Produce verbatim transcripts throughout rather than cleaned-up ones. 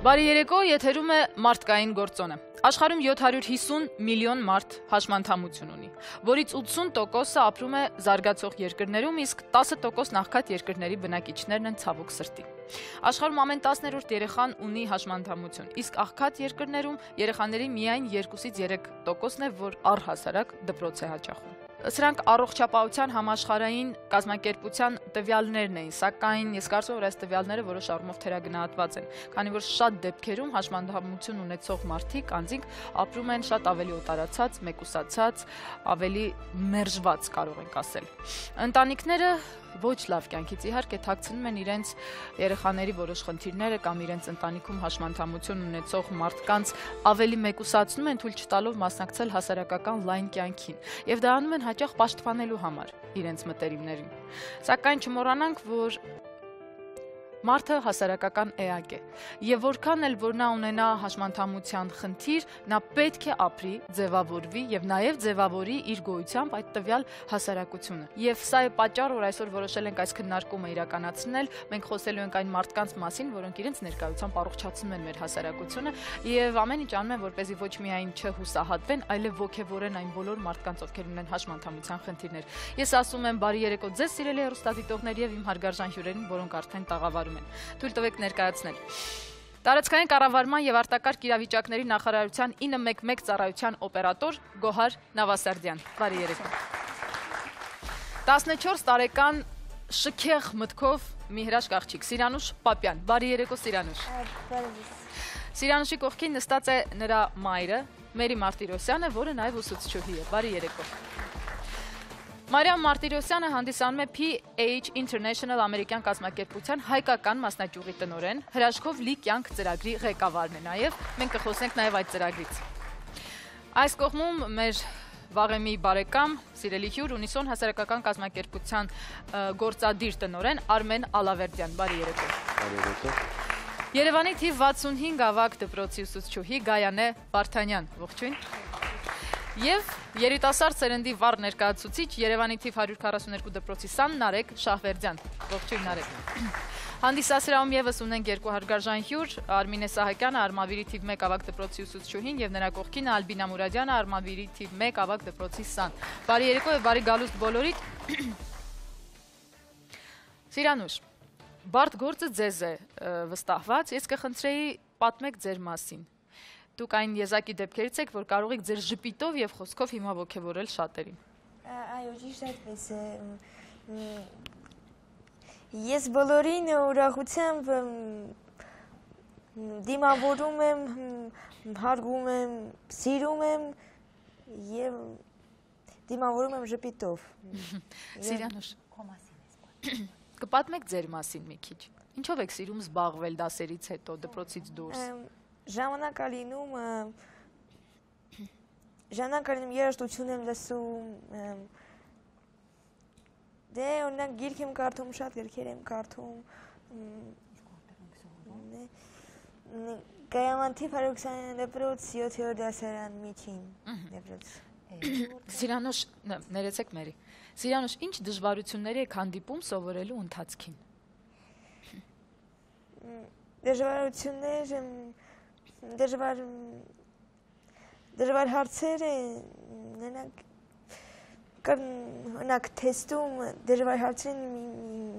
Բարի երեկո, եթերում է մարդկային գործոնը։ Աշխարհում յոթ հարյուր հիսուն միլիոն մարդ հաշմանդամություն ունի, որից ութսուն տոկոսը ապրում է զարգացող երկրներում, իսկ տասը տոկոս նախքան երկրների բնակիչներն են ցավոք սրտի։ Աշխարհում ամեն տասներորդ երեխան ունի հաշմանդամություն, իսկ աղքատ երկրներում երեխաների միայն երկուսից երեք տոկոսն է, որ առհասարակ դպրոց է հաճախում։ Սրանք առողջապահության համաշխարհային կազմակերպության տվյալներն էին, սակայն ես կարծում եմ, որ այս տվյալները որոշ առումով թերագնահատված են, քանի որ շատ դեպքերում հաշմանդամություն ունեցող մարդիկ անձինք ապրում են շատ ավելի օտարացած, մեկուսացած, ավելի մերժված կարող ենք ասել։ Ընտանիքները ոչ լավ կյանքից իհարկե թաքցնում են իրենց երեխաների որոշ խնդիրները կամ իրենց ընտանիքում հաշմանդամություն ունեցող մարդկանց ավելի մեկուսացնում են, թույլ չտալով մասնակցել հասարակական լայն կյանքին, եւ դա անում են հաճախ պաշտպանելու համար իրենց մտերիմներին։ Սակայն չմոռանանք, որ մարդը հասարակական էակ է, եւ որքան էլ որ նա ունենա հաշմանդամության խնդիր, նա պետք է ապրի, ձևավորվի եւ նաեւ ձևավորի իր գոյությամբ այդ տվյալ հասարակությունը։ Եվ սա է պատճառը, որ այսօր որոշել ենք այս քննարկումը իրականացնել, մենք խոսելու ենք այն մարդկանց մասին, որոնք իրենց ներկայությամբ առողջացնում են մեր հասարակությունը եւ ամեն ինչ անում են, որպեսզի ոչ միայն չհուսահատվեն, այլև ոգևորեն այն բոլոր մարդկանց, ովքեր ունեն հաշմանդամության խնդիրներ։ Ես ասում եմ բարի երեկո ձեզ, սիրելի հեռուստադիտողներ եւ իմ հարգարժան հյուրերին, որոնք արդեն տաղավարում են։ Թույլ տվեք ներկայացնել։ Տարածքային կառավարման եւ արտակարգ իրավիճակների նախարարության ինը մեկ մեկ ծառայության օպերատոր Գոհար Նավասարդյան։ Բարի երեկո։ տասնչորս տարեկան շքեղ մտքով մի հրաշք աղջիկ Սիրանուշ Պապյան։ Բարի երեկո Սիրանուշ։ Սիրանուշի կողքին նստած է նրա մայրը Մերի Մարտիրոսյանը, որը նաեւ ուսուցչուհի է։ Բարի երեկո։ Մարիամ Մարտիրոսյանը հանդիսանում է P H International ամերիկյան կազմակերպության հայկական մասնաճյուղի տնօրեն, հրաշքով լի կյանք ծրագրի ղեկավարն է նաև, մենք կխոսենք նաև այդ ծրագրից։ Այս կողմում մեր վաղեմի բարեկամ, սիրելի հյուր, Ունիսոն հասարակական կազմակերպության գործադիր տնօրեն Արմեն Ալավերդյան, բարի երեկո։ Բարի երեկո։ Երևանի թիվ վաթսունհինգ ավագ դպրոցի ուսուցչուհի Գայանե Վարդանյան, ողջույն։ Եվ երիտասարդ սերնդի վառ ներկայացուցիչ Երևանի թիվ հարյուր քառասուններկու դպրոցի սան Նարեկ Շահվերդյան, ողջույն Նարեկ։ Հանդիսասրահում եւս ունենք երկու հարգարժան հյուր, Արմինե Սահակյանը, Արմավիրի թիվ մեկ ավագ դպրոցի ուսուցչուհին եւ նրա կողքին Ալբինա Մուրադյանը, Արմավիրի թիվ մեկ ավագ դպրոցի սան։ Բարի երեկո եւ բարի գալուստ բոլորիդ։ Սիրանուշ, բարդ գործը ձեզ է վստահված, ես կխնդրեի պատմեք ձեր մասին։ Դուք այն եզակի դեպքերից եք, որ կարող եք ձեր ժպիտով եւ խոսքով հիմա ոգևորել շատերին։ Այո, ճիշտ այդպես է։ Ես բոլորին ուրախությամբ դիմավորում եմ, հարգում եմ, սիրում եմ եւ դիմավորում եմ ժպիտով։ Սիրանուշ, քո մասին ես պատմում։ Կպատմեք ձեր մասին մի քիչ։ Ինչով եք սիրում զբաղվել դասերից հետո, դպրոցից դուրս։ Ժամանակ ալինում, ժամանակ ալինում երաժշտություն եմ լսում, դե օրինակ գիրք եմ կարդում, շատ գրքեր եմ կարդում, Գայանե թիվ հարյուր քսաներորդ դպրոց յոթերորդ դասարան միջին դպրոց։ Սիրանուշ, ներեցեք Մերի, Սիրանուշ, ինչ դժվարությունների եք հանդիպում սովորելու ընթացքին։ Դժվարություններ Դժվար դժվար հարցեր օրինակ թեստում դժվար հարցերին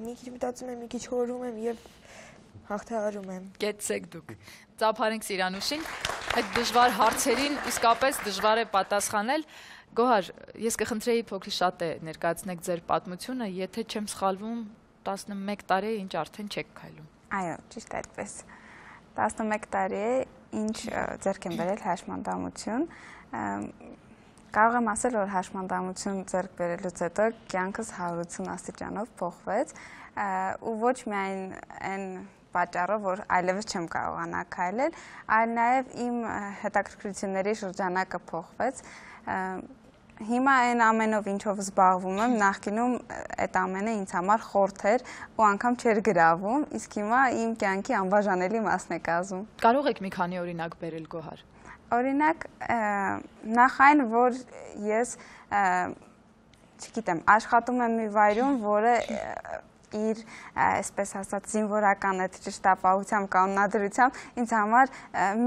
մի քիչ մտածում եմ, մի քիչ հորում եմ եւ հաղթահարում եմ։ Գեցեք դուք։ Ծափարենք Սիրանուշին, այդ դժվար հարցերին իսկապես դժվար է պատասխանել։ Գոհար, ես կխնդրեի փոքր շատ է ներկայացնեք ձեր պատմությունը, եթե չեմ սխալվում, տասնմեկ տարի է ինչ արդեն չեք քայլում։ Այո, ճիշտ այդպես։ տասնմեկ տարի է ինչ ձեռք եմ բերել հաշմանդամություն, կարող եմ ասել, որ հաշմանդամություն ձեռք բերելուց հետո կյանքս հարյուրացուն աստիճանով փոխվեց ու ոչ միայն այն պատճառով, որ այլևս չեմ կարողանա քայլել, այլ նաև իմ հետաքրքրությունների շրջանակը փոխվեց։ Հիմա այն ամենով ինչով զբաղվում եմ, նախկինում այդ ամենը ինձ համար խորթ էր ու անգամ չէր գրավում, իսկ հիմա իմ կյանքի անբաժանելի մասն է կազմում։ Կարող եք մի քանի օրինակ բերել Գոհար։ Օրինակ, նախ այն, որ ես, չգիտեմ, աշխատում եմ մի վայրում, որը իր այսպես ասած զինվորական այդ ճշտապահությամբ կանոնադրությամբ ինձ համար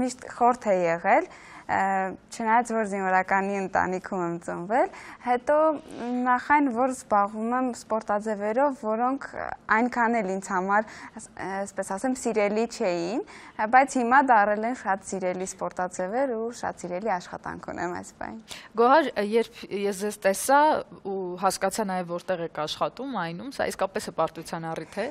միշտ խորթ է եղել, չնայած որ զինվորականի ընտանիքում եմ ծնվել, հետո նախ այն, որ զբաղվում եմ սպորտաձևերով, որոնք այնքան էլ ինձ համար, այսպես ասեմ, սիրելի չէին, բայց հիմա դառել են շատ սիրելի սպորտաձևեր ու շատ սիրելի աշխատանք ունեմ այս բան։ Գոհար, երբ ես ձեզ տեսա ու հասկացա նաև որտեղ եք աշխատում, այնում, սա իսկապես հպարտության առիթ է,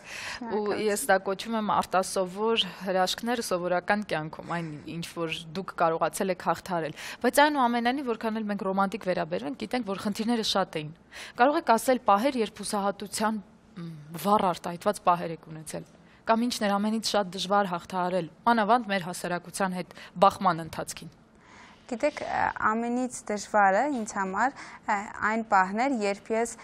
ու ես դա կոչում եմ արտասովոր հրաշքներ սովորական կյանքում, այն ինչ որ դուք կարողացել եք հաղթարել, բայց այնուամենայնիվ որքան էլ մենք ռոմանտիկ վերաբերվենք, գիտենք, որ խնդիրները շատ էին։ Կարող եք ասել պահեր, երբ հուսահատության վառ արտահայտված պահեր եք ունեցել, կամ ինչն էր ամենից շատ դժվար հաղթահարել, մանավանդ մեր հասարակության հետ բախման ընթացքին։ Գիտեք, ամենից դժվարը ինձ համար այն պահն էր, երբ ես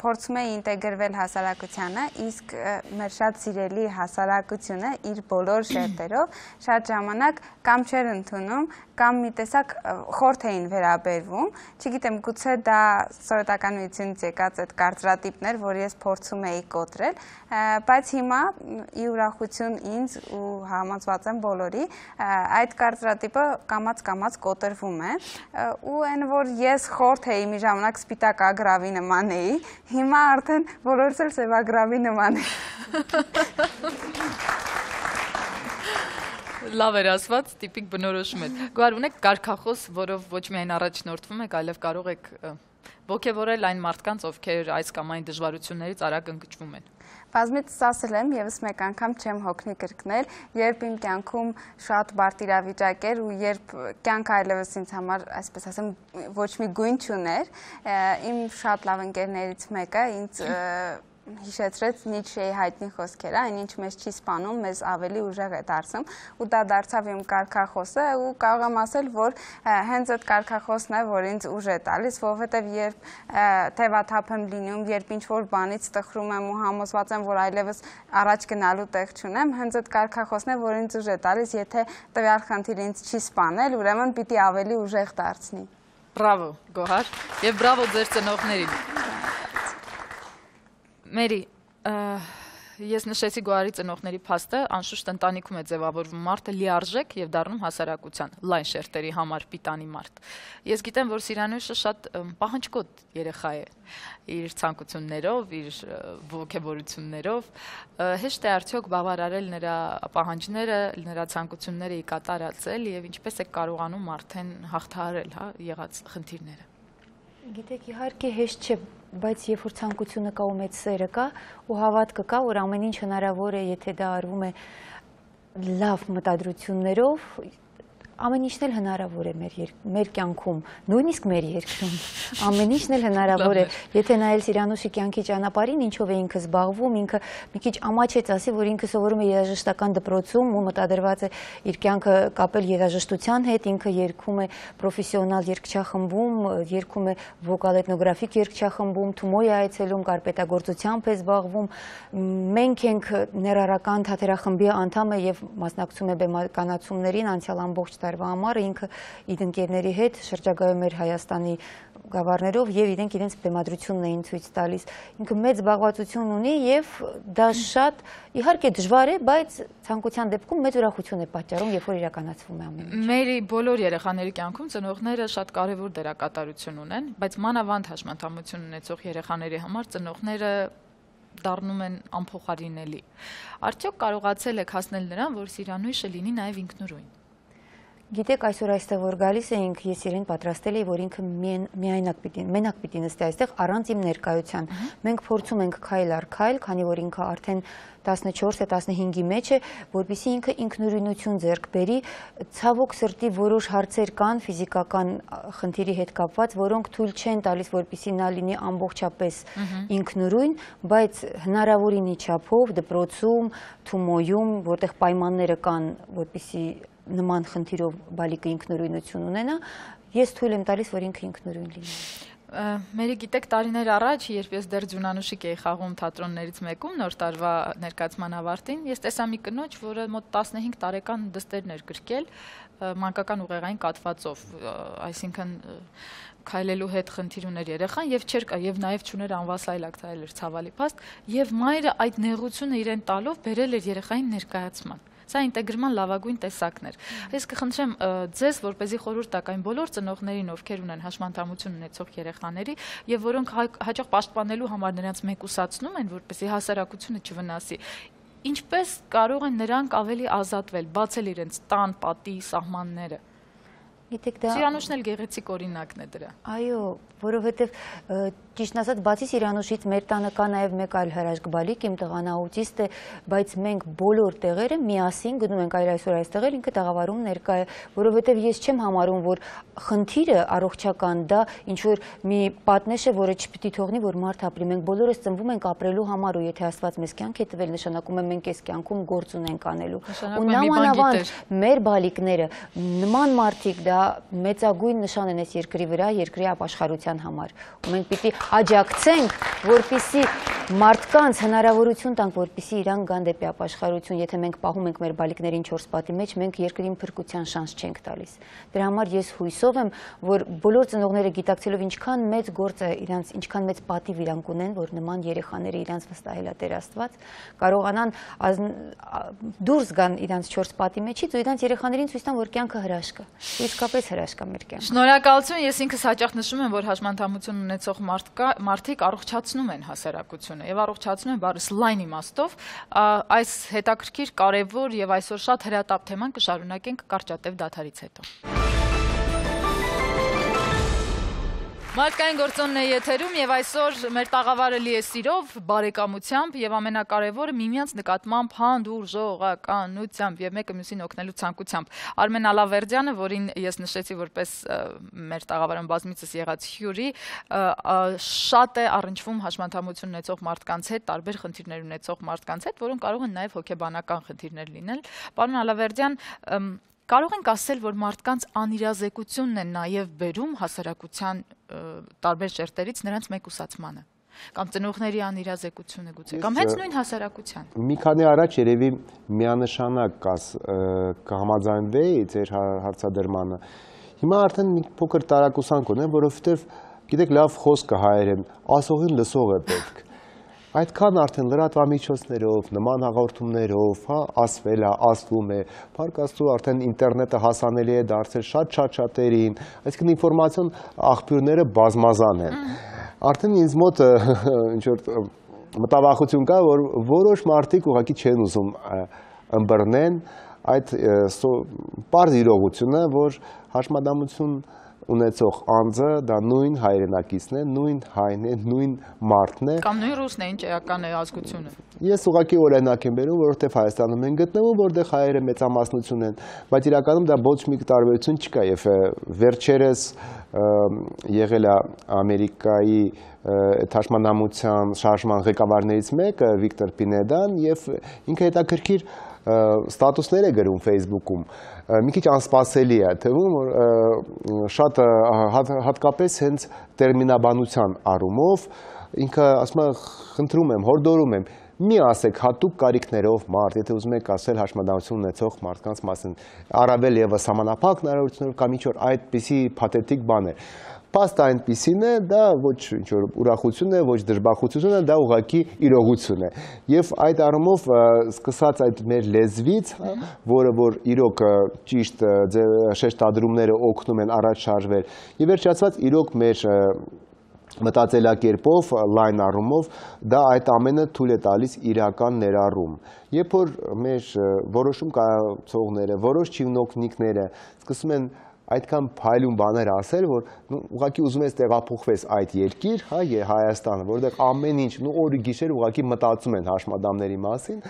փորձում էի ինտեգրվել հասարակությանը, իսկ մեր շատ սիրելի հասարակությունը իր բոլոր շերտերով շատ ժամանակ կամ չէր ընդունում, կամ մի տեսակ խորթ էին վերաբերվում, չգիտեմ, գուցե դա սովետականությունից եկած այդ կարծրատիպներ, որ ես փորձում էի կոտրել, բայց հիմա ի ուրախություն ինձ ու համոզված եմ բոլորի, այդ կարծրատիպը կամաց-կամաց կոտրվում է, ու այն որ ես խորթ էի մի ժամանակ սպիտակ ագրավի նման էի, հիմա արդեն բոլորս էլ սևագրավի նման է։ Լավ էր ասված, տիպիկ բնորոշում եք։ Գոհար, ունեք կարգախոս, որով ոչ միայն առաջնորդվում եք, այլև կարող եք ոգևորել այն մարդկանց, ովքեր այս կամ այն դժվարություններից արագ ընկճվում են։ Բազմիցս ասել եմ, եւս մեկ անգամ չեմ հոգնի կրկնել, երբ իմ կյանքում շատ բարդ իրավիճակ էր ու երբ կյանքը այլևս ինձ համար, այսպես ասեմ, ոչ մի գույն չուներ, իմ շատ լավ ընկերներից մեկը ինձ հիշեցրեց Նիցշեի հայտնի խոսքերը, այն ինչ մեզ չի սպանում, մեզ ավելի ուժեղ է դարձնում, ու դա դարձավ իմ կարգախոսը, ու կարող եմ ասել, որ հենց այդ կարգախոսն է, որ ինձ ուժ է տալիս, որովհետև երբ թևաթափ եմ լինում, երբ ինչ-որ բանից տխրում եմ ու համոզված եմ, որ այլևս առաջ գնալու տեղ չունեմ, հենց այդ կարգախոսն է, որ ինձ ուժ է տալիս, եթե տվյալ խնդիրը ինձ չի սպանել, ուրեմն պիտի ավելի ուժեղ դարձնի։ Բրավո, Գոհար, եւ բրավո ձեր ծնողներին։ Մերի, ես նշեցի Գոհարի ծնողների փաստը, անշուշտ ընտանիքում է ձևավորվում մարդը լիարժեք եւ դառնում հասարակության լայն շերտերի համար պիտանի մարդ։ Ես գիտեմ, որ Սիրանույշը շատ պահանջկոտ երեխա է իր ցանկություններով, իր ոգևորություններով, հեշտ է արդյոք բավարարել նրա պահանջները, նրա ցանկությունները ի կատարածել եւ ինչպես է կարողանում արդեն հաղթահարել, հա, եղած խնդիրները։ Գիտեք, իհարկե հեշտ չէ, բայց երբ որ ցանկությունը կա ու մեծ սերը կա ու հավատքը կա, որ ամեն ինչ հնարավոր է, եթե դա արվում է լավ մտադրություններով, ամեն ինչն էլ հնարավոր է մեր, մեր կյանքում, նույնիսկ մեր երկրում, ամեն ինչն էլ հնարավոր է, եթե նայել Սիրանուշի կյանքի ճանապարհին, ինչով է ինքը զբաղվում, ինքը մի քիչ ամաչեց ասի, որ ինքը սովորում է երաժշտական դպրոցում ու մտադրված է իր կյանքը կապել երաժշտության հետ, ինքը երգում է պրոֆեսիոնալ երգչախմբում, երգում է վոկալ էթնոգրաֆիկ երգչախմբում, Թումոյ է այցելում, կարպետագործությամբ է զբաղվում, մենք ենք ներառական թատերախմբի անդամ է եւ մասնակցում է բեմականացումներին անցյալ ամբողջ տարվա համար, ինքը իր ընկերների հետ շրջագայում էր Հայաստանի գավառներով եւ իրենք իրենց բեմադրությունն էին ցույց տալիս։ Ինքը մեծ զբաղվածություն ունի եւ դա շատ իհարկե դժվար է, բայց ցանկության դեպքում մեծ ուրախություն է պատճառում, երբ որ իրականացվում է ամեն ինչ։ Մերի բոլոր երեխաների կյանքում ծնողները շատ կարևոր դերակատարություն ունեն, բայց մանավանդ հաշմանդամություն ունեցող երեխաների համար ծնողները դառնում են անփոխարինելի։ Արդյոք կարողացել եք հասնել նրան, որ Սիրանույշը լինի նաեւ ինքնուրույն։ Գիտեք, այսօր այստեղ որ գալիս էինք, ես իրեն պատրաստել էի, որ ինքը միայնակ պիտի, մենակ պիտի նստի այստեղ առանց իմ ներկայության։ Մենք փորձում ենք քայլ առ քայլ, քանի որ ինքը արդեն տասնչորս է, տասնհինգի մեջ է, որպեսզի ինքը ինքնուրույնություն ձեռք բերի, ցավոք սրտի որոշ հարցեր կան ֆիզիկական խնդիրի հետ կապված, որոնք թույլ չեն տալիս, որպեսզի նա լինի ամբողջապես ինքնուրույն, բայց հնարավորինի չափով դպրոցում, Թումոյում, որտեղ պայմանները կան, որպեսզի նման խնդիրով բալիկը ինքնուրույնություն ունենա, ես թույլ եմ տալիս, որ ինքը ինքնուրույն լինի։ Մերի գիտեք տարիներ առաջ, երբ ես դեռ ձյունանուշիկ էի խաղում թատրոններից մեկում նոր տարվա ներկայացման ավարտին, ես տեսա մի կնոջ, որը մոտ տասնհինգ տարեկան դստերն էր գրկել մանկական ուղեղային կաթվածով, այսինքն քայլելու հետ խնդիր ուներ երեխան եւ չէր կա եւ նաեւ չուներ անվասայլակ, դա էր ցավալի փաստ, եւ մայրը այդ նեղությունը իրեն տալով բերել էր երեխային ներկայացման։ Սա ինտեգրման լավագույն տեսակն էր։ Ես կխնդրեմ ձեզ, որպեսզի խորհուրդ տաք այն բոլոր ծնողներին, ովքեր ունեն հաշմանդամություն ունեցող երեխաների եւ որոնք հաճախ պաշտպանելու համար նրանց մեկուսացնում են, որպեսզի հասարակությունը չվնասի։ Ինչպես կարող են նրանք ավելի ազատվել, բացել իրենց տան, պատի սահմանները։ Գիտեք, դա Սիրանուշն էլ գեղեցիկ օրինակն է դրա։ Այո, որովհետև ճիշտն ասած, բացի Սիրանուշից մեր տանը կա նաև մեկ այլ հրաշքբալիկ, իմ տղան աուտիստ է, բայց մենք բոլոր տեղերը միասին գնում ենք այր այսօր այս տեղեր, ինքը տաղավարում ներկա է, որովհետև ես չեմ համարում, որ խնդիրը առողջական դա ինչ որ մի պատնեշ է, որը չպիտի թողնի, որ մարդ ապրի։ Մենք բոլորս ծնվում ենք ապրելու համար ու եթե Աստված մեզ կյանք է տվել, նշանակում է մենք այս կյանքում գործ ունենք անելու։ Ու նամանավանդ մեր բալիկները նման մարդիկ դա մեծագույն նշան են այս երկրի վրա, երկրի ապաշխարության համար։ Ու մենք պիտի աջակցենք, որպեսզի մարդկանց հնարավորություն տանք, որպեսզի իրան գան դեպի ապաշխարություն, եթե մենք պահում ենք մեր բալիկներին չորս պատի մեջ, մենք երկրին փրկության շանս չենք տալիս։ Դրա համար ես հույսով եմ, որ բոլոր ծնողները գիտակցելով ինչքան մեծ գործ է իրանց, ինչքան մեծ պատիվ իրանք ունեն, որ նման երեխաները իրանց վստահել է Տեր Աստված, կարողանան դուրս գան իրանց չորս պատի մեջից ու իրանց երեխաներին ցույց տան, որ կյանքը հրաշք է։ Իսկապես հրաշք է մեր կյանքում։ Շնորհակալություն, ես ինքս հաճախ նշում եմ, որ հաշմանդամություն ունեցող մարդիկ առողջացնում են հասարակությունը եւ առողջացնում են բառս լայն իմաստով, այս հետաքրքիր, կարեւոր եւ այսօր շատ հրատապ թեման կշարունակենք կարճատև դադարից հետո։ Մարդկային գործոնն է եթերում եւ այսօր մեր տաղավարը լի է սիրով, բարեկամությամբ եւ ամենակարևորը միմյանց նկատմամբ հանդուրժողականությամբ եւ մեկը մյուսին օգնելու ցանկությամբ։ Արմեն Ալավերդյանը, որին ես նշեցի որպես մեր տաղավարում բազմիցս եղած հյուրի, շատ է առնչվում հաշմանդամություն ունեցող մարդկանց հետ, տարբեր խնդիրներ ունեցող մարդկանց հետ, որոնք կարող են նաեւ հոգեբանական խնդիրներ լինել։ Պարոն Ալավերդյան, կարող ենք ասել, որ մարդկանց անիրազեկությունն է նաև բերում հասարակության տարբեր շերտերից նրանց մեկուսացմանը, կամ ծնողների անիրազեկությունը գուցե, կամ հենց նույն հասարակության։ Մի քանի առաջ երևի միանշանակ կհամաձայնվեի ձեր հարցադրմանը։ Հիմա արդեն մի փոքր տարակուսանք ունեմ, որովհետև գիտեք լավ խոսքը հայերեն, ասողին լսող է պետք։ Այդքան արդեն լրատվամիջոցներով, նման հաղորդումներով, հա, ասվել է, ասվում է, փառք Աստծո արդեն ինտերնետը հասանելի է դարձել շատ-շատ շատերին, այսինքն ինֆորմացիոն աղբյուրները բազմազան են։ Արդեն ինձ մոտ ինչ որ մտավախություն կա, որ որոշ մարդիկ ուղղակի չեն ուզում ըմբռնեն այդ պարզ իրողությունը, որ հաշմանդամություն ունեցող անձը դա նույն հայրենակիցն է, նույն հայն է, նույն մարդն է։ Կամ նույն ռուսն է, ինչ էական է ազգությունը։ Ես ուղղակի օրինակ եմ բերում, որովհետև Հայաստանում են գտնվում, որտեղ հայերը մեծամասնություն են, բայց իրականում դա ոչ մի տարբերություն չկա եւ վերջերս եղել է Ամերիկայի հաշմանդամության շարժման ղեկավարներից մեկը Վիկտոր Պինեդան եւ ինքը հետաքրքիր ստատուսներ է գրում Facebook-ում, մի քիչ անսպասելի է թվում, որ շատ հատկապես հենց տերմինաբանության առումով, ինքը ասում է, խնդրում եմ, հորդորում եմ, մի ասեք հատուկ կարիքներով մարդ, եթե ուզում եք ասել հաշմանդամություն ունեցող մարդկանց մասին, առավել ևս սահմանափակ հնարավորություններով կամ ինչ-որ այդպիսի փաթեթիկ բաներ։ Փաստը այնպիսին է, դա ոչ ինչ-որ ուրախություն է, ոչ դժբախտություն է, դա ուղղակի իրողություն է։ Եվ այդ առումով սկսած այդ մեր լեզվից, որը որ իրոք ճիշտ շեշտադրումները օգնում են առաջ շարժվել, եւ վերջացված իրոք մեր մտածելակերպով, լայն առումով, դա այդ ամենը թույլ է տալիս իրական ներառում։ Երբ որ մեր որոշում կայացողները, որոշ չինովնիկները սկսում են այդքան փայլուն բաներ ասել, որ ուղղակի ուզում ես տեղափոխվես այդ երկիր, հա, Հայաստանը, որտեղ ամեն ինչ, նու օրը գիշեր ուղղակի մտածում են հաշմանդամների մասին,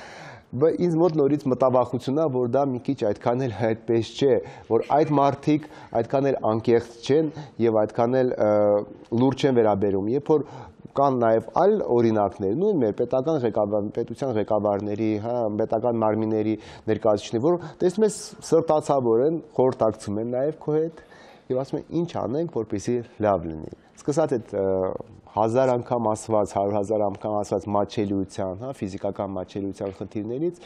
ինձ մոտ նորից մտավախություն է, որ դա մի քիչ այդքան էլ այդպես չէ, որ այդ մարդիկ այդքան էլ անկեղծ չեն եւ այդքան էլ լուրջ չեն վերաբերում, երբ որ կան նաև այլ օրինակներ, նույն մեր պետական ղեկավար, պետության ղեկավարների, հա, պետական մարմինների ներկայացուցիչներ, որ տեսնում ես սրտացավոր են, խորհրդակցում են նաև քո հետ եւ ասում են ինչ անենք, որպեսզի լավ լինի։ Սկսած այդ հազար անգամ ասված, հարյուր հազար անգամ ասված մատչելիության, հա, ֆիզիկական մատչելիության խնդիրներից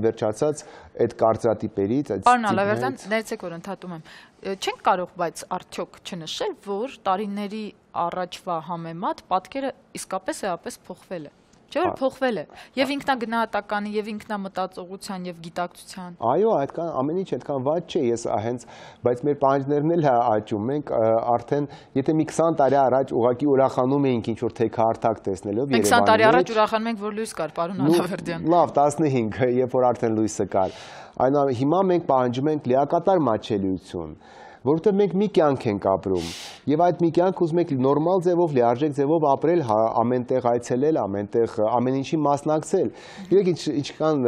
վերջացած այդ կարծրատիպերից, այդ Պարոն Ալավերդյան, ներեցեք որ ընդհատում եմ։ Չենք կարող բայց արդյոք չնշել, որ տարիների առաջվա համեմատ պատկերը իսկապես էապես փոխվել է։ Չէ՞ որ փոխվել է եւ ինքնագնահատականի եւ ինքնամտածողության եւ գիտակցության։ Այո, այդքան ամեն ինչ այդքան վատ չէ, ես հենց, բայց մեր պահանջներն էլ աճում, մենք արդեն եթե մի քսան տարի առաջ ուղղակի ուրախանում էինք ինչ որ թեքահարթակ տեսնելով Երևանի։ քսան տարի առաջ ուրախանում ենք, որ լույս կար, պարոն Ալավերդյան։ Լավ, տասնհինգ, երբ որ արդեն լույսը կար։ Այն հիմա մենք պահանջում ենք լիակատար մատչելիություն, որովհետև մենք մի կյանք ենք ապրում եւ այդ մի կյանք ուզում ենք նորմալ ձևով, լիարժեք ձևով ապրել, ամենտեղ այցելել, ամենտեղ ամեն ինչի մասնակցել։ Գիտեք ինչքան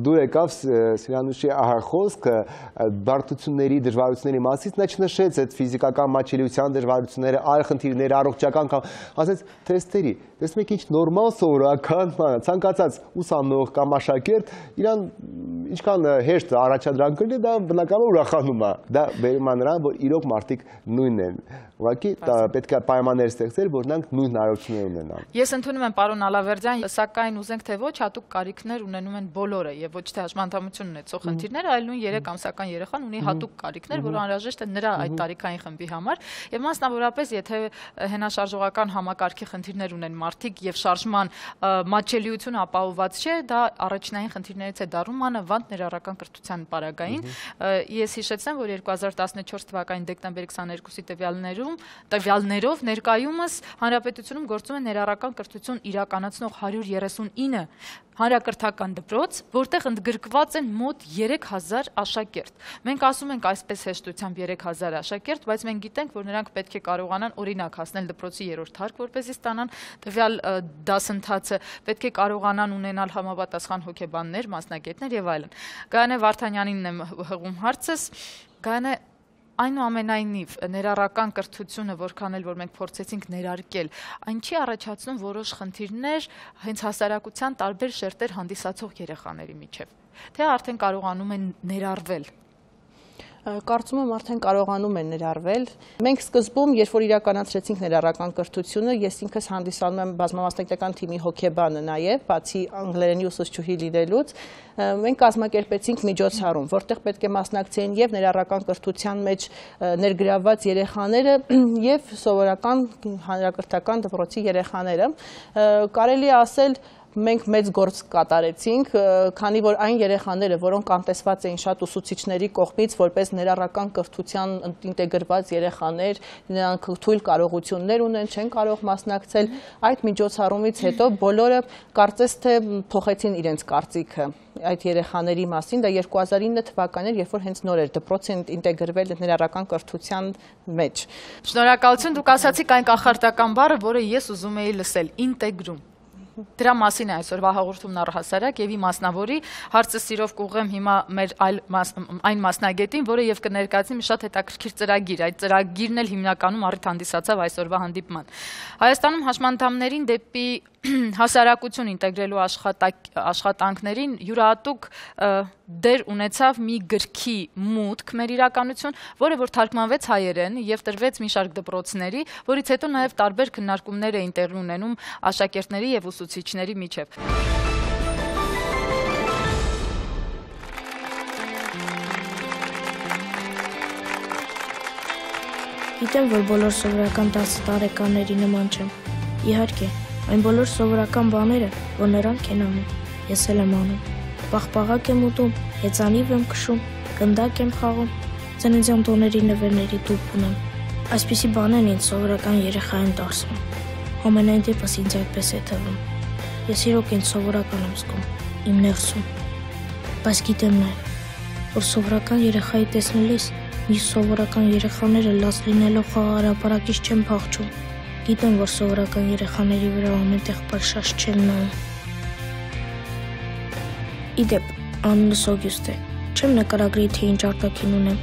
դուր եկավ Սիրանուշի խոսքը բարդությունների, դժվարությունների մասից, նա չնշեց այդ ֆիզիկական մատչելիության դժվարությունները, այլ խնդիրները, առողջական կամ ասեց թեստերի։ Տեսնում եք ինչ նորմալ սովորական, ցանկացած ուսանող կամ աշակերտ իրան ինչքան հեշտ առաջադրանք կլինի, դա բնականաբար ուրախանում է։ Դա վերում է նրան, որ իրոք մարդիկ նույնն են։ Ուղղակի պետք է պայմաններ ստեղծել, որ նրանք նույն հնարավորություններ ունենան։ Ես ընդունում եմ պարոն Ալավերդյան, սակայն ուզենք թե ոչ հատուկ կարիքներ ունենում են բոլորը եւ ոչ թե հաշմանդամություն ունեցող խնդիրները, այլ նույն երեք ամսական երեխան ունի հատուկ կարիքներ, որ անհրաժեշտ է նրա այդ տարիքային խմբի համար եւ մասնավորապես եթե հենաշարժողական համակարգի խնդիրներ ունեն մարդիկ եւ շարժման մատչելիությունը ապահովված չէ, դա առաջնային խնդիրներից է դառնում մանավանդ ներառական կրթության պարագային։ Ես հիշեցնեմ, որ երկու հազար տասնչորս թվականի դեկտեմբերի քսաներկուսի տվյալներում տվյալներով ներկայումս հանրապետությունում գործում է ներառական կրթություն իրականացնող հարյուր երեսունինը հանրակրթական դպրոց, որտեղ ընդգրկված են մոտ երեք հազար աշակերտ։ Մենք ասում ենք այսպես հեշտությամբ երեք հազար աշակերտ, բայց մենք գիտենք, որ նրանք պետք է կարողանան օրինակ հասնել դպրոցի երրորդ հարկ, որպեսզի ստանան տվյալ դասընթացը, պետք է կարողանան ունենալ համապատասխան հոգեբաններ, մասնագետներ եւ այլն։ Գայանե Վարդանյանինն եմ հղում հարցս։ Գայանե, այնուամենայնիվ ներառական կրթությունը, որքան էլ որ մենք փորձեցինք ներարկել, այն չի առաջացնում որոշ խնդիրներ հենց հասարակության տարբեր շերտեր հանդիսացող երեխաների միջև, թե արդեն կարողանում են ներառվել։ Կարծում եմ արդեն կարողանում են ներառվել։ Մենք սկզբում, երբ որ իրականացրեցինք ներառական կրթությունը, ես ինքս հանդիսանում եմ բազմամասնագիտական թիմի հոգեբանը նաև, բացի անգլերենի ուսուցչուհի լինելուց, մենք կազմակերպեցինք միջոցառում, որտեղ պետք է մասնակցեին եւ ներառական կրթության մեջ ներգրավված երեխաները եւ սովորական հանրակրթական դպրոցի երեխաները։ Կարելի է ասել մենք մեծ գործ կատարեցինք, քանի որ այն երեխաները, որոնք անտեսված էին շատ ուսուցիչների կողմից, որպես ներառական կրթության ինտեգրված երեխաներ, նրանք թույլ կարողություններ ունեն, չեն կարող մասնակցել, այդ միջոցառումից հետո բոլորը կարծես թե փոխեցին իրենց կարծիքը այդ երեխաների մասին, դա երկու հազար ինը թվականն էր, երբ որ հենց նոր էր դպրոցը ինտեգրվել ներառական կրթության մեջ։ Շնորհակալություն, դուք ասացիք այն կախարդական բառը, որը ես ուզում էի լսել՝ ինտեգրում։ Դրա մասին է այսօրվա հաղորդումն առհասարակ եւ իմ մասնավորի հարցը սիրով կուղեմ հիմա մեր այլ այն մասնագետին, որը եւ կներկայացնի մի շատ հետաքրքիր ծրագիր։ Այդ ծրագիրն էլ հիմնականում առիթ հանդիսացավ այսօրվա հանդիպման։ Հայաստանում հաշմանդամներին դեպի հասարակություն ինտեգրելու աշխատանքներին յուրահատուկ դեր ունեցավ մի գրքի մուտք մեր իրականություն, որը որ թարգմանվեց հայերեն եւ տրվեց մի շարք դպրոցների, որից հետո նաեւ տարբեր քննարկումներ էին տեղի ունենում աշակերտների եւ ուսուցիչների միջև։ Գիտեմ, որ բոլոր սովորական տասը տարեկանների նման չեմ։ Իհարկե, այն բոլոր սովորական բաները, որ նրանք են անում, ես էլ եմ անում։ Պաղպաղակ եմ ուտում, հեծանիվ եմ քշում, գնդակ եմ խաղում, ծննդյան տոների նվերների տուփ ունեմ։ Այսպիսի բաներն ինձ սովորական երեխա են դարձնում։ Ամենայն դեպս ինձ այդպես է թվում։ Ես իրոք ինձ սովորական եմ զգում, իմ ներսում։ Բայց գիտեմ նաև, որ սովորական երեխայի տեսնելիս մի սովորական երեխաները լաց լինելով խաղահարապարակից չեն փախչում։ Գիտեմ, որ սովորական երեխաների վրա ամենտեղ պարշաշ չեն նայում։ Իդեպ, անունս Օգյուստ է, չեմ նկարագրի, թե ինչ արտաքին ունեմ,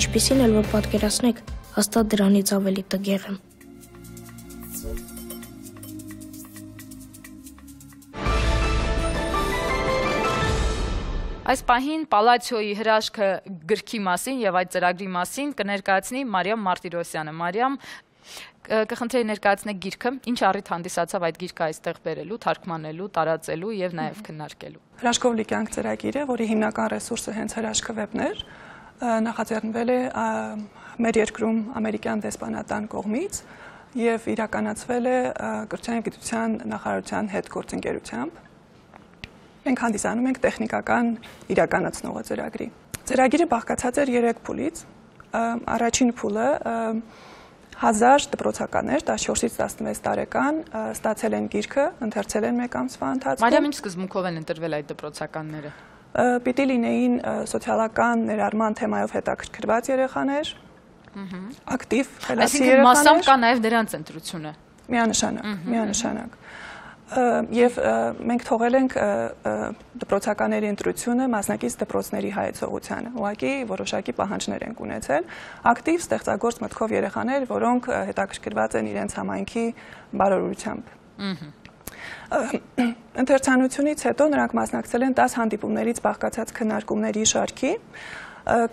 ինչպիսին էլ որ պատկերացնեք, հաստատ դրանից ավելի տգեղ եմ։ Այս պահին Պալացիոյի հրաշքը գրքի մասին եւ այդ ծրագրի մասին կներկայացնի Մարիամ Մարտիրոսյանը։ Մարիամ, կխնդրեի ներկայացնեք գիրքը, ինչ առիթ հանդիսացավ այդ գիրքը այստեղ բերելու, թարգմանելու, տարածելու եւ նաեւ քննարկելու։ Հրաշքով լիքյանք ծրագիրը, որի հիմնական ռեսուրսը հենց հրաշքը վեբն էր, նախաձեռնվել է մեր երկրում ամերիկյան դեսպանատան կողմից եւ իրականացվել է կրթության եւ գիտության նախարարության հետ գործընկերությամբ։ Մենք հանդիսանում ենք տեխնիկական իրականացնողը ծրագրի։ Ծրագիրը բաղկացած էր երեք փուլից։ Առաջին փուլը հազար դպրոցականներ տասնչորսից տասնվեց տարեկան ստացել են գիրքը, ընթերցել են մեկ ամսվա ընթացքում։ Մարիամ, ինչ սկզբունքով են ընտրվել այդ դպրոցականները։ Պիտի լինեին սոցիալական ներառման թեմայով հետաքրքրված երեխաներ, ակտիվ, խելացի երեխաներ։ Այսինքն մասամբ կա նաև դրանց ընտրությունը։ Միանշանակ, միանշանակ։ Եվ մենք թողել ենք դպրոցականների ընտրությունը մասնակից դպրոցների հայեցողությանը։ Ուղղակի որոշակի պահանջներ ենք ունեցել, ակտիվ ստեղծագործ մտքով երեխաներ, որոնք հետաքրքրված են իրենց համայնքի բարօրությամբ։ Ընթերցանությունից հետո նրանք մասնակցել են տասը հանդիպումներից բաղկացած քննարկումների շարքի։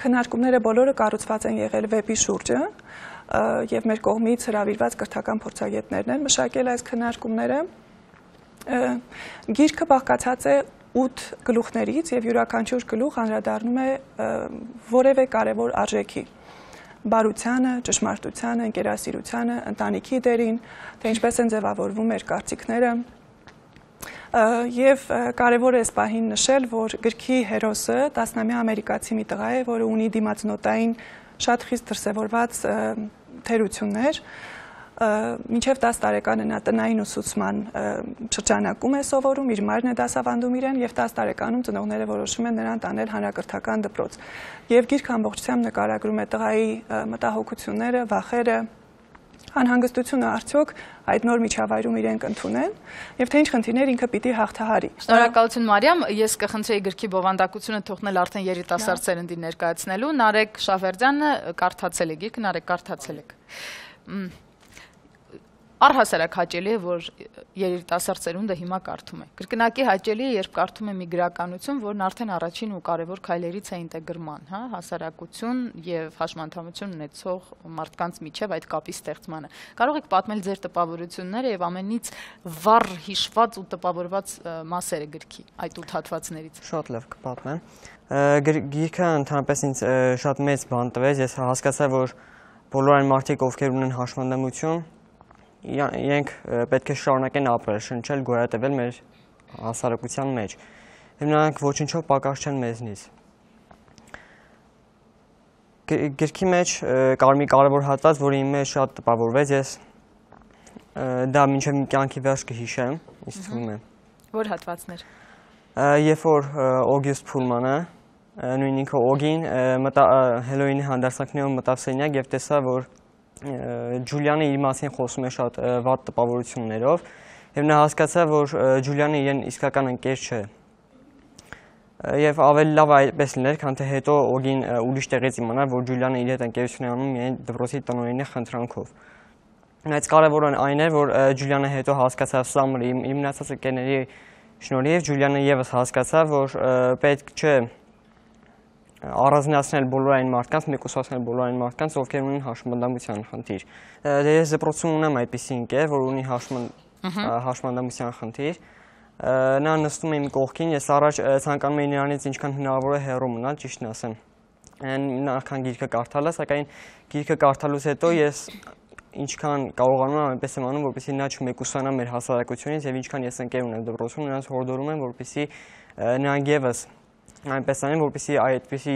Քննարկումները բոլորը կառուցված են եղել վեբի շուրջը եւ մեր կողմից հրավիրված կրթական փորձագետներն են մշակել այս քննարկումները։ Գիրքը բաղկացած է ութ գլուխներից եւ յուրաքանչյուր գլուխ անդրադառնում է որևէ կարևոր արժեքի՝ բարությանը, ճշմարտությանը, ընկերասիրությանը, ընտանիքի դերին, թե ինչպես են ձևավորվում մեր կարծիքները։ Եվ կարևոր է այս պահին նշել, որ գրքի հերոսը տասնամյա ամերիկացի մի տղա է, որը ունի դիմացնոտային շատ խիստ դրսևորված թերություններ։ Մինչև տասը տարեկանը նա տնային ուսուցման շրջանակում է սովորում, իր մայրն է դասավանդում իրեն եւ տասը տարեկանում ծնողները որոշում են նրան տանել հանրակրթական դպրոց։ Եվ գիրքը ամբողջությամբ նկարագրում է տղայի մտահոգությունները, վախերը, անհանգստությունը արդյոք այդ նոր միջավայրում իրեն կընդունեն եւ թե ինչ խնդիրներ ինքը պիտի հաղթահարի։ Շնորհակալություն Մարիամ, ես կխնդրեի գրքի բովանդակությունը թողնել արդեն երիտասարդ սերնդի ներկայացնելու։ Նարեկ Շավերդյանը կարդացել է գիրքը, Նարեկ կարդացել եք։ Առհասարակ հաճելի է, որ երիտասարդ սերունդը հիմա կարդում է։ Կրկնակի հաճելի է, երբ կարդում է մի գրականություն, որն արդեն առաջին ու կարևոր քայլերից է ինտեգրման, հա, հասարակություն եւ հաշմանդամություն ունեցող մարդկանց միջև այդ կապի ստեղծմանը։ Կարող եք պատմել ձեր տպավորությունները եւ ամենից վառ հիշված ու տպավորված մասերը գրքի այդ ութ հատվածներից։ Շատ լավ կպատմեմ։ Գիրքը ընդհանրապես ինձ շատ մեծ բան տվեց, ես հասկացա, որ բոլոր այն մարդիկ, ովքեր ունեն հաշմանդամություն, իրենք պետք է շարունակեն ապրել, շնչել, գոյատևել մեր հասարակության մեջ։ Եվ նրանք ոչնչով պակաս չեն մեզնից։ Գրքի մեջ կար մի կարևոր հատված, որը իմ մեջ շատ տպավորվեց, ես դա մինչև մի կյանքի վերջ կհիշեմ, ինձ թվում է։ Որ հատվածներ։ Երբ որ Օգյուստ Փուլմանը, նույն ինքը Օգին, Հելոյինի հանդարսանքներով մտավ սենյակ եւ տեսավ, որ Ջուլիանը իր մասին խոսում է շատ վատ տպավորություններով եւ նա հասկացավ, որ Ջուլիանը իրեն իսկական ընկեր չէ։ Եվ ավելի լավ այդպես լիներ, քան թե հետո Օգին ուրիշ տեղից իմանար, որ Ջուլիանը իր հետ ընկերություն է անում միայն դպրոցի տնօրենի խնդրանքով։ Բայց կարևորն այն էր, որ Ջուլիանը հետո հասկացավ Սամրի իր մնացած ընկերների շնորհիվ, Ջուլիանը եւս հասկացավ, որ պետք չէ առանձնացնել բոլոր այն մարդկանց, մեկուսացնել բոլոր այն մարդկանց, ովքեր ունեն հաշմանդամության խնդիր։ Դե ես դպրոցում ունեմ այդպիսի ընկեր, որ ունի հաշմանդամության խնդիր։ Նա նստում է իմ կողքին, ես առաջ ցանկանում էի նրանից ինչքան հնարավոր է հեռու մնալ, ճիշտն ասեմ։ Նախքան գիրքը կարդալը, սակայն գիրքը կարդալուց հետո ես ինչքան կարողանում եմ այնպես եմ անում, որպեսզի նա չմեկուսանա մեր հասարակությունից եւ ինչքան ես ընկեր ունեմ դպրոցում, նրանց հորդորում եմ, որպեսզի նրանք եւս այնպես անեն, որպեսզի այդպիսի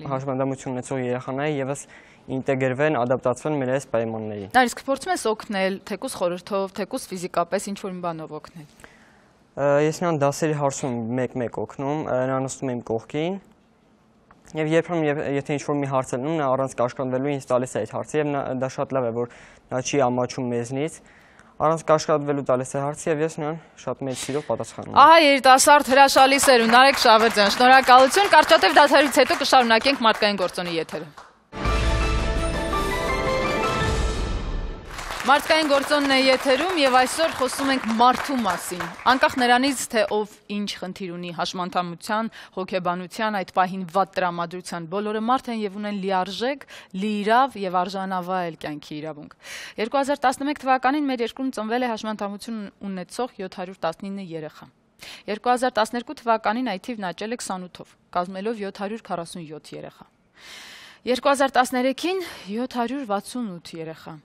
հաշմանդամություն ունեցող երեխաները եւս ինտեգրվեն, ադապտացվեն մեր այս պայմաններին։ Նա իսկ փորձում ես օգնել, թեկուզ խորհրդով, թեկուզ ֆիզիկապես ինչ-որ մի բանով օգնել։ Ես նրան դասերի հարցում մեկ-մեկ օգնում, նա նստում է իմ կողքին եւ երբեմն եթե ինչ-որ մի հարց է լինում, նա առանց կաշկանդվելու ինձ տալիս է այդ հարցը եւ դա շատ լավ է, որ նա չի ամաչում մեզնից։ Առանց կաշկանդվելու տալիս է հարցը եւ ես նրան շատ մեծ սիրով պատասխանում եմ։ Ահա երիտասարդ հրաշալի սերունդ Նարեկ Շավերդյան, շնորհակալություն։ Կարճատև դադարից հետո կշարունակենք մարդկային գործոնի եթերը։ Մարդկային գործոնն է եթերում եւ այսօր խոսում ենք մարդու մասին։ Անկախ նրանից, թե ով ինչ խնդիր ունի հաշմանդամության, հոգեբանության, այդ պահին վատ տրամադրության, բոլորը մարդ են եւ ունեն լիարժեք, լիիրավ եւ արժանավայել կյանքի իրավունք։ երկու հազար տասնմեկ թվականին մեր երկրում ծնվել է հաշմանդամություն ունեցող յոթ հարյուր տասնինը երեխա։ երկու հազար տասներկու թվականին այդ թիվն աճել է քսանութով, կազմելով յոթ հարյուր քառասունյոթ երեխա։ երկու հազար տասներեքին յոթ հարյուր վաթսունութ երեխա։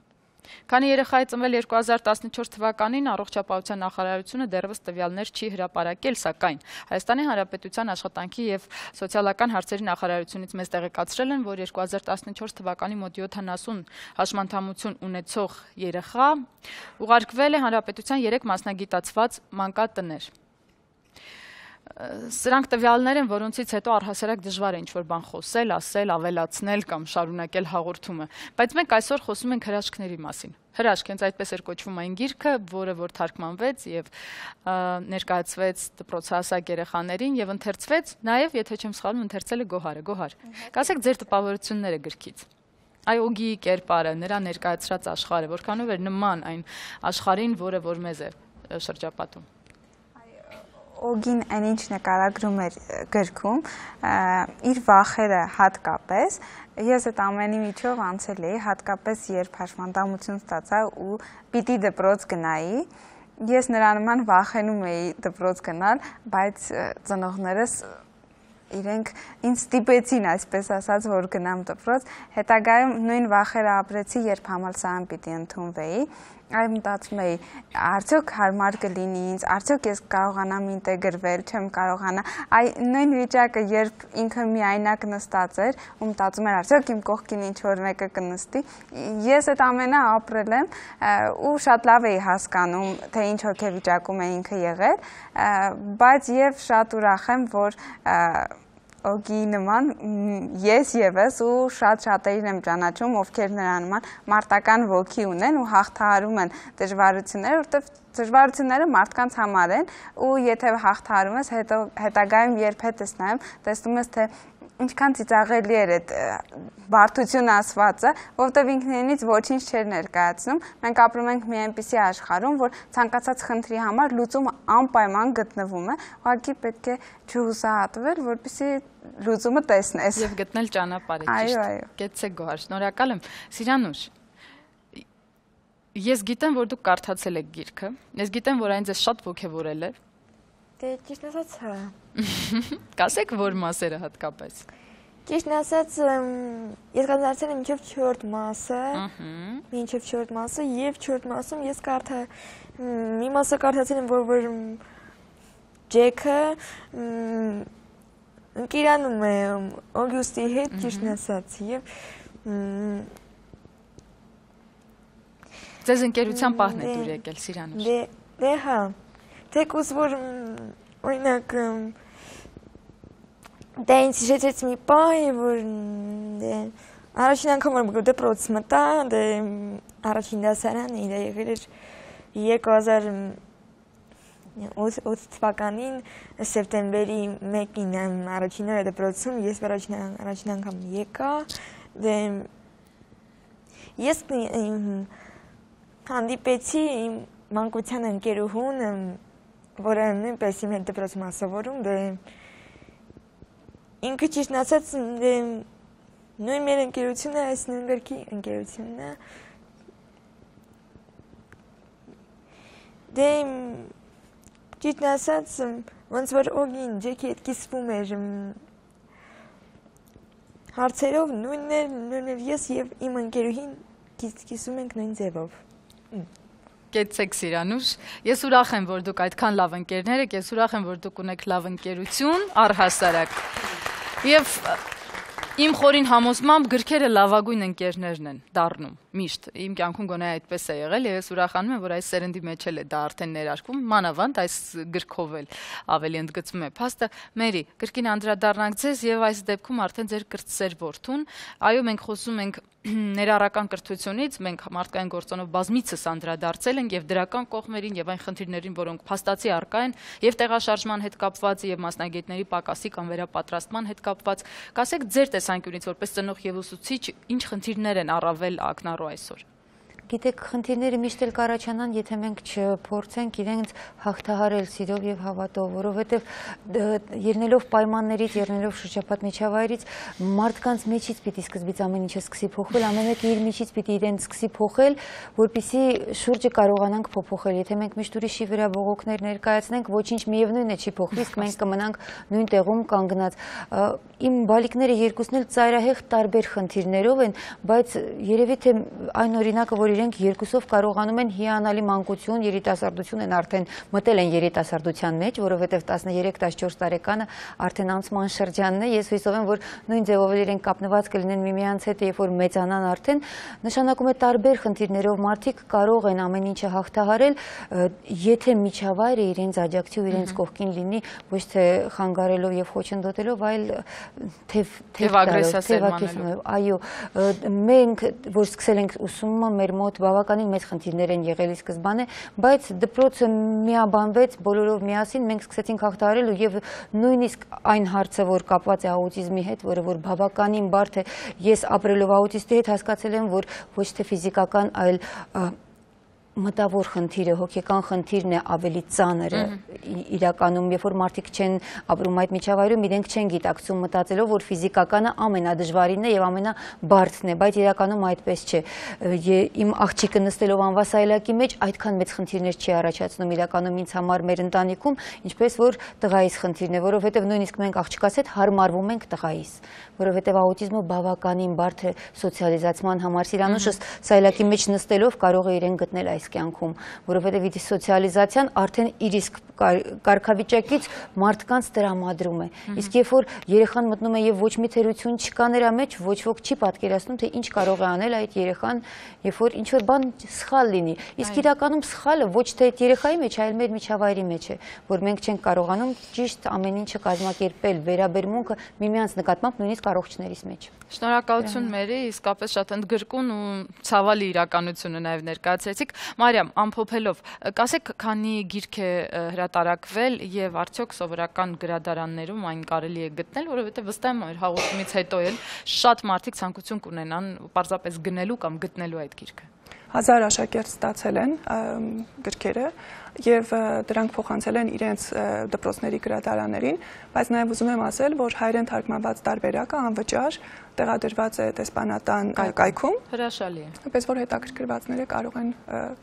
Քանի երեխա է ծնվել երկու հազար տասնչորս թվականին, առողջապահության նախարարությունը դեռևս տվյալներ չի հրապարակել, սակայն Հայաստանի Հանրապետության աշխատանքի եւ սոցիալական հարցերի նախարարությունից մեզ տեղեկացրել են, որ երկու հազար տասնչորս թվականի մոտ յոթանասուն հաշմանդամություն ունեցող երեխա ուղարկվել է Հանրապետության երեք մասնագիտացված մանկատներ։ Սրանք տվյալներ են, որոնցից հետո առհասարակ դժվար է ինչ-որ բան խոսել, ասել, ավելացնել կամ շարունակել հաղորդումը, բայց մենք այսօր խոսում ենք հրաշքների մասին։ Հրաշք, հենց այդպես էր կոչվում այն գիրքը, որը որ թարգմանվեց եւ ներկայացվեց դպրոցահասակ երեխաներին եւ ընթերցվեց, նաեւ, եթե չեմ սխալվում, ընթերցել է Գոհարը, Գոհար։ Կասեք ձեր տպավորությունները գրքից։ Այ Օգիի կերպարը, նրա ներկայացրած աշխարհը, որքանով էր նման այն աշխարհին, որը որ մեզ է շրջապատում։ Օգին այնինչ նկարագրում էր գրքում, իր վախերը հատկապես, ես այդ ամենի միջով անցել էի, հատկապես երբ հաշմանդամություն ստացա ու պիտի դպրոց գնայի, ես նրա նման վախենում էի դպրոց գնալ, բայց ծնողներս իրենք ինձ ստիպեցին, այսպես ասած, որ գնամ դպրոց, հետագայում նույն վախերը ապրեցի, երբ համալսարան պիտի ընդունվեի, այ մտածում էի, արդյոք հարմար կլինի ինձ, արդյոք ես կարողանամ ինտեգրվել, չեմ կարողանա, այ նույն վիճակը, երբ ինքը միայնակ նստած էր, ու մտածում էր, արդյոք իմ կողքին ինչ-որ մեկը կնստի, ես այդ ամենը ապրել եմ ու շատ լավ էի հասկանում, թե ինչ հոգեվիճակում է ինքը եղել, բայց եւ շատ ուրախ եմ, որ Օգիի նման ես եւս ու շատ շատերին եմ ճանաչում, ովքեր նրա նման մարտական ոգի ունեն ու հաղթահարում են դժվարությունները, որտեղ դժվարությունները մարդկանց համար են ու եթե հաղթահարում ես, հետո հետագայում երբ հետս նայում, տեսնում ես, թե ինչքան ծիծաղելի էր այդ բարդություն ասվածը, որովհետև ինքնինից ոչինչ չէր ներկայացնում։ Մենք ապրում ենք մի այնպիսի աշխարհում, որ ցանկացած խնդրի համար լուծումը անպայման գտնվում է, ուղղակի պետք է չհուսահատվել, որպեսզի լուծումը տեսնես։ Եվ գտնել ճանապարհը, ճիշտ։ Այո, այո։ Գեցեք Գոհար, շնորհակալ եմ։ Սիրանուշ, ես գիտեմ, որ դուք կարդացել եք գիրքը, ես գիտեմ, որ այն ձեզ շատ ոգևորել է։ Դե ճիշտ ասած, հա։ Կասեք որ մասերը հատկապես։ Ճիշտ ասած, ես կազմակերպել եմ մինչև չորրորդ մասը, մինչև չորրորդ մասը եւ չորրորդ մասում ես կարդա մի մասը կարդացել եմ, որ որ Ջեքը ընկերանում է Օգյուստի հետ, ճիշտ ասած, եւ Ձեզ ընկերության պահն է դուր եկել, Սիրանուշ։ Դե, դե հա։ Թեկուզ որ օրինակ դա ինձ հիշեցրեց մի պահ, որ առաջին անգամ որ դպրոց մտա, դե առաջին դասարանը իր եղել էր երկու հազար ութ թվականին սեպտեմբերի մեկին առաջին օրը դպրոցում ես առաջին անգամ եկա, դե ես հանդիպեցի իմ մանկության ընկերուհուն, որը նույնպես իմ հետ դպրոցում ասովորում, դե ինքը ճիշտ ասած նույն մեր ընկերությունը, այս նույն գրքի ընկերությունն է, դե ճիշտ ասած ոնց որ Օգին Ջեքի հետ կիսվում էր հարցերով, նույնն էր ես եւ իմ ընկերուհին կիսում ենք նույն ձևով։ Կեցեք Սիրանուշ, ես ուրախ եմ, որ դուք այդքան լավ ընկերներ եք, ես ուրախ եմ, որ դուք ունեք լավ ընկերություն, առհասարակ։ Եվ իմ խորին համոզմամբ գրքերը լավագույն ընկերներն են դառնում, միշտ։ Իմ կյանքում գոնե այդպես է եղել, եւ ես ուրախանում եմ, որ այս սերնդի մեջ էլ է դա արդեն ներարկվում, մանավանդ այս գրքով էլ ավելի ընդգծվում է փաստը։ Մերի, գրքին անդրադառնանք ձեզ եւ այս դեպքում արդեն ձեր կրտսեր որդուն։ Այո, մենք խոսում ենք ներառական կրթությունից, մենք մարդկային գործոնով բազմիցս անդրադարձել ենք եւ դրական կողմերին եւ այն խնդիրներին, որոնք փաստացի առկա են եւ տեղաշարժման հետ կապված եւ մասնագետների պակասի կամ վերապատրաստման հետ կապված։ Կասեք ձեր տեսանկյունից որպես ծնող եւ ուսուցիչ, ինչ խնդիրներ են առավել ակնառու այսօր։ Գիտեք, խնդիրները միշտ էլ կառաջանան, եթե մենք չփորձենք իրենց հաղթահարել սիրով եւ հավատով, որովհետեւ ելնելով պայմաններից, ելնելով շրջապատ միջավայրից, մարդկանց մեջից պիտի սկզբից ամեն ինչը սկսի փոխվել, ամեն մեկը իր միջից պիտի իրեն սկսի փոխել, որպեսզի շուրջը կարողանանք փոփոխել։ Եթե մենք միշտ ուրիշի վրա բողոքներ ներկայացնենք, ոչինչ միևնույն է չի փոխվի, իսկ մենք կմնանք նույն տեղում կանգնած։ Իմ բալիկները երկուսն էլ ծայրահեղ տարբեր խնդիրներով են, բայց երևի թե այն օրինակը, որ իրենք երկուսով կարողանում են հիանալի մանկություն, երիտասարդություն են արդեն մտել են երիտասարդության մեջ, որովհետև տասներեք տասնչորս տարեկանը արդեն անցման շրջանն է, ես հույսով եմ, որ նույն ձևով իրենք կապնված կլինեն միմյանց հետ, երբ որ մեծանան արդեն, նշանակում է տարբեր խնդիրներով մարդիկ կարող են ամեն ինչը հաղթահարել, եթե միջավայրը իրենց աջակցի ու իրենց կողքին լինի, ոչ թե խանգարելով եւ խոչընդոտելով, այլ թեև ագրեսիա սերմանելով։ Այո, մենք որ սկսել ենք ուսումը, մեր մոտ բավականին մեծ խնդիրներ են եղել սկզբանե, բայց դպրոցը միաբանվեց, բոլորով միասին մենք սկսեցինք հաղթահարել եւ նույնիսկ այն հարցը, որ կապված է աուտիզմի հետ, որը որ բավականին բարդ է, ես ապրելով աուտիստի հետ հասկացել եմ, որ ոչ թե ֆիզիկական, այլ մտավոր խնդիրը, հոգեկան խնդիրն է ավելի ծանրը իրականում, երբ որ մարդիկ չեն ապրում այդ միջավայրում, իրենք չեն գիտակցում մտածելով, որ ֆիզիկականը ամենադժվարինն է եւ ամենաբարձն է, բայց իրականում այդպես չէ։ Իմ աղջիկը նստելով անվասայլակի մեջ այդքան մեծ խնդիրներ չի առաջացնում իրականում ինձ համար մեր ընտանիքում, ինչպես որ տղայիս խնդիրն է, որովհետեւ նույնիսկ մենք աղջկաս հետ հարմարվում ենք տղայիս, որովհետեւ աուտիզմը բավականին բարդ է սոցիալիզացման համար։ Սիրանուշը սայլակի մեջ նստելով կարող է իրեն գտնել այս կյանքում, որովհետև իր սոցիալիզացիան արդեն իր իսկ կարգավիճակից մարդկանց տրամադրում է։ Իսկ երբ որ երեխան մտնում է եւ ոչ մի թերություն չկա նրա մեջ, ոչ ոք չի պատկերացնում, թե ինչ կարող է անել այդ երեխան, երբ որ ինչ որ բան սխալ լինի։ Իսկ իրականում սխալը ոչ թե այդ երեխայի մեջ, այլ մեր միջավայրի մեջ է, որ մենք չենք կարողանում ճիշտ ամեն ինչը կազմակերպել, վերաբերմունքը միմյանց նկատմամբ նույնիսկ առողջներից մեջ։ Շնորհակալություն Մերի, իսկապես շատ ընդգրկուն ու ցավալի իրականությունը նաև ներկայացրեցիք։ Մարիամ, ամփոփելով, կասեք, քանի գիրք է հրատարակվել եւ արդյոք սովորական գրադարաններում այն կարելի է գտնել, որովհետեւ վստահ եմ, որ հաղորդումից հետո էլ շատ մարդիկ ցանկություն կունենան պարզապես գնելու կամ գտնելու այդ գիրքը։ Հազար աշակերտ ստացել են գրքերը եւ դրանք փոխանցել են իրենց դպրոցների գրադարաններին, բայց նաեւ ուզում եմ ասել, որ հայերեն թարգմանված տարբերակը անվճար տեղադրված է դեսպանատան կայքում։ Հրաշալի է։ Այնպես որ հետաքրքրվածները կարող են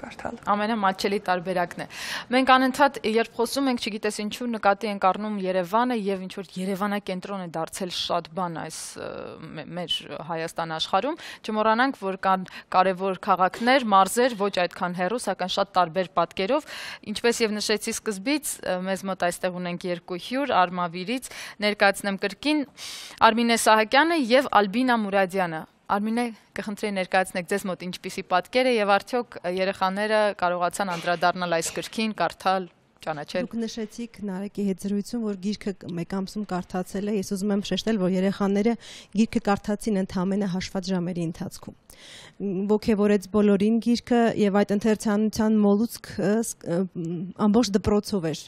կարդալ։ Ամենամատչելի տարբերակն է։ Մենք անընդհատ երբ խոսում ենք, չգիտես ինչու նկատի ենք առնում Երևանը եւ ինչ որ Երևանակենտրոն է դարձել շատ բան այս մեր Հայաստան աշխարհում, չմոռանանք, որ կան կարևոր քաղաքներ, մարզեր, ոչ այդքան հեռու, սակայն շատ տարբեր պատկերով, ինչպես եւ նշեցի սկզբից, մեզ մոտ այստեղ ունենք երկու հյուր, Արմավիրից ներկայացնեմ կրկին Արմինե Սահակյանը եւ Ալբինա Մուրադյանը։ Արմինե, կխնդրեի ներկայացնեք ձեզ մոտ ինչպիսի պատկեր է եւ արդյոք երեխաները կարողացան անդրադառնալ այս գրքին, կարդալ, ճանաչել։ Դուք նշեցիք Նարեկի հետ զրույցում, որ գիրքը մեկ ամսում կարդացել է, ես ուզում եմ շեշտել, որ երեխաները գիրքը կարդացին ընդամենը հաշված ժամերի ընթացքում։ Ոգևորեց բոլորին գիրքը եւ այդ ընթերցանության մոլուցք ամբողջ դպրոցով էր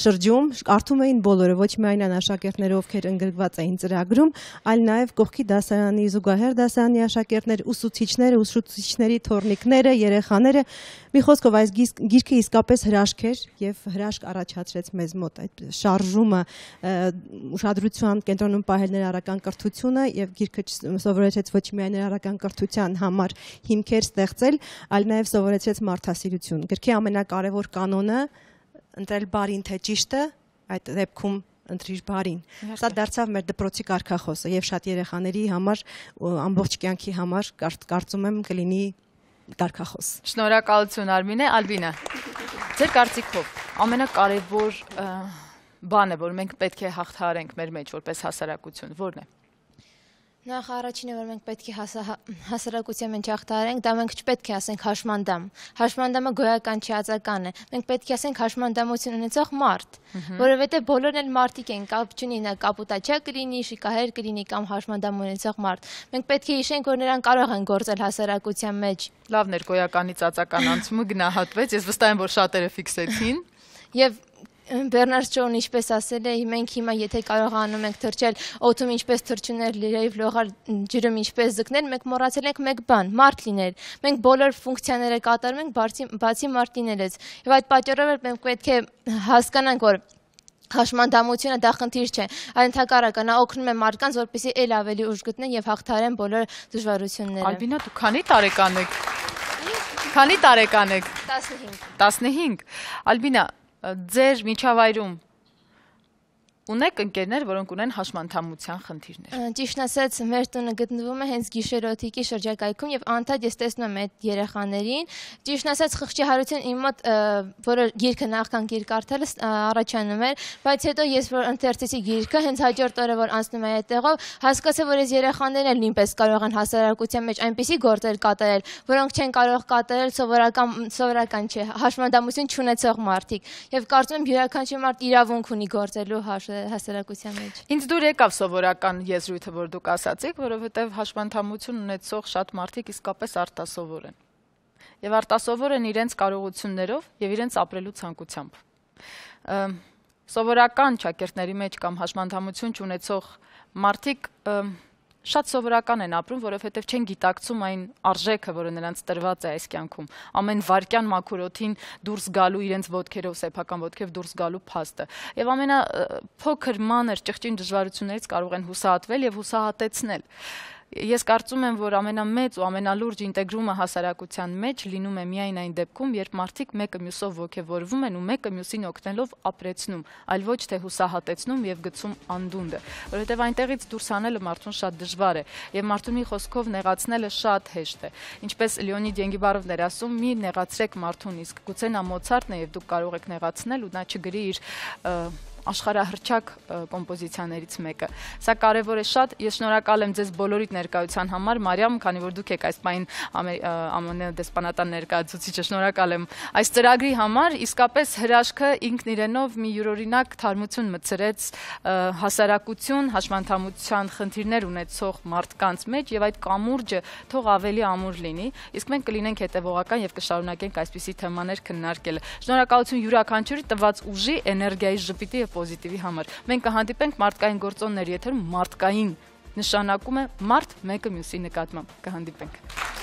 շրջում, կարդում էին բոլորը, ոչ միայն աշակերտները, ովքեր ընդգրկված էին ծրագրում, այլ նաեւ կողքի դասարանի զուգահեռ դասարանի աշակերտներ, ուսուցիչները, ուսուցիչների թորնիկները, երեխաները, մի խոսքով այս գիրքը իսկապես հրաշք էր եւ հրաշք առաջացրեց մեզ մոտ այդ շարժումը, ուշադրության կենտրոնում պահել ներառական կրթությունը եւ գիրքը սովորեցրեց ոչ միայն ներառական կրթության համար հիմքեր ստեղծել, այլ նաև սովորեցրեց մարդասիրություն։ Գրքի ամենակարևոր կանոնը ընտրել բարին թե ճիշտը, այդ դեպքում ընտրիր բարին։ Սա դարձավ մեր դպրոցի կարգախոսը եւ շատ երեխաների համար, ամբողջ կյանքի համար կարծում եմ կլինի կարգախոս։ Շնորհակալություն Արմինե, Ալբինա։ Ձեր կարծիքով ամենակարևոր բանը, որ մենք պետք է հաղթահարենք մեր մեջ որպես հասարակություն, ո՞րն է։ Նախ առաջինը, որ մենք պետք է հասարակության մեջ հաղթահարենք, դա մենք չպետք է ասենք հաշմանդամ։ Հաշմանդամը գոյական չի, ածական է։ Մենք պետք է ասենք հաշմանդամություն ունեցող մարդ, որովհետև բոլորն էլ մարդիկ են, կապ չունի նա կապուտաչա կլինի, շիկահեր կլինի կամ հաշմանդամ ունեցող մարդ։ Մենք պետք է հիշենք, որ նրանք կարող են գործել հասարակության մեջ։ Լավն էր գոյականից ածական անցումը գնահատվեց, ես վստահ եմ, որ շատերը ֆիքսեցին։ Եվ Բեռնարդ Շոուն ինչպես ասել է, մենք հիմա եթե կարողանում ենք թռչել օդում ինչպես թռչուններ լիրեև լողալ ջրում ինչպես ձգնել, մենք մոռացել ենք մեկ բան՝ մարդ լինել։ Մենք բոլոր ֆունկցիաները կատարում ենք բացի բացի մարդ լինելուց։ Եվ այդ պատճառով մենք պետք է հասկանանք, որ հաշմանդամությունը դա խնդիր չէ, այլ ընդհակառակը նա օգնում է մարդկանց, որպեսզի ել ավելի ուժ գտնեն եւ հաղթահարեն բոլոր դժվարությունները։ Ալբինա, դու քանի տարեկան եք։ Քանի տարեկան եք։ տասնհինգ։ տասնհինգ։ Ալբինա, ձեր միջավայրում ունեք ընկերներ, որոնք ունեն հաշմանդամության խնդիրներ։ Ճիշտ ասած, մեր տունը գտնվում է հենց գիշերօթիկի շրջակայքում եւ անդադ ես տեսնում եմ այդ երեխաներին։ Ճիշտ ասած, խղճի հարություն իմ մոտ, որը գիրքը նախքան գիրք կարդալը առաջանում էր, բայց հետո ես որ ընթերցեցի գիրքը, հենց հաջորդ օրը որ անցնում էի այդտեղով, հասկացա, որ այս երեխաներն էլ նույնպես կարող են հասարակության մեջ այնպիսի գործեր կատարել, որոնք չեն կարող կատարել սովորական սովորական չէ, հաշմանդամություն չունեցող մարդիկ։ Եվ կարծում եմ յուրաքանչյուր մարդ իրավունք ունի գործելու հասարակության մեջ։ Ինձ դուր եկավ սովորական եզրույթը, որ դուք ասացիք, որովհետև հաշմանդամություն ունեցող շատ մարդիկ իսկապես արտասովոր են։ Եվ արտասովոր են իրենց կարողություններով եւ իրենց ապրելու ցանկությամբ։ Սովորական ճակերտների մեջ կամ հաշմանդամություն չունեցող մարդիկ շատ սովորական են ապրում, որովհետև չեն գիտակցում այն արժեքը, որը նրանց տրված է այս կյանքում։ Ամեն վայրկյան մաքուր օդին դուրս գալու իրենց ոտքերով, սեփական ոտքերով դուրս գալու փաստը։ Եվ ամենափոքր մանր ճղճին դժվարություններից կարող են հուսահատվել եւ հուսահատեցնել։ Ես կարծում եմ, որ ամենամեծ ու ամենալուրջ ինտեգրումը հասարակության մեջ լինում է միայն այն դեպքում, երբ մարդիկ մեկը մյուսով ոգևորվում են ու մեկը մյուսին օգնելով ապրեցնում, այլ ոչ թե հուսահատեցնում եւ գցում անդունդը, որովհետեւ այնտեղից դուրս հանելը մարդուն շատ դժվար է եւ մարդուն մի խոսքով նեղացնելը շատ հեշտ է։ Ինչպես Լեոնիդ Ենգիբարովն էր ասում, մի նեղացրեք մարդուն, իսկ գուցե նա Մոցարտն է եւ դուք կարող եք նեղացնել ու նա չգրի իր աշխարհահռչակ կոմպոզիցիաներից մեկը։ Սա կարևոր է շատ։ Ես շնորհակալ եմ ձեզ բոլորիդ ներկայության համար, Մարիամ, քանի որ դուք եք այս պայն ԱՄՆ դեսպանատան ներկայացուցիչը, շնորհակալ եմ այս ծրագրի համար։ Իսկապես հրաշքը ինքն իրենով մի յուրօրինակ թարմություն մտցրեց հասարակություն, հաշմանդամության խնդիրներ ունեցող մարդկանց մեջ եւ այդ կամուրջը թող ավելի ամուր լինի, իսկ մենք կլինենք հետեւողական եւ կշարունակենք այսպիսի թեմաներ քննարկել։ Շնորհակալություն յուրաքանչյուրի տված ուժի, էներգիայի, ժպիտի եւ պոզիտիվի համար։ Մենք կհանդիպենք մարդկային գործոնների եթերում, մարդկային նշանակում է մարդ մեկը մյուսի նկատմամբ։ Կհանդիպենք։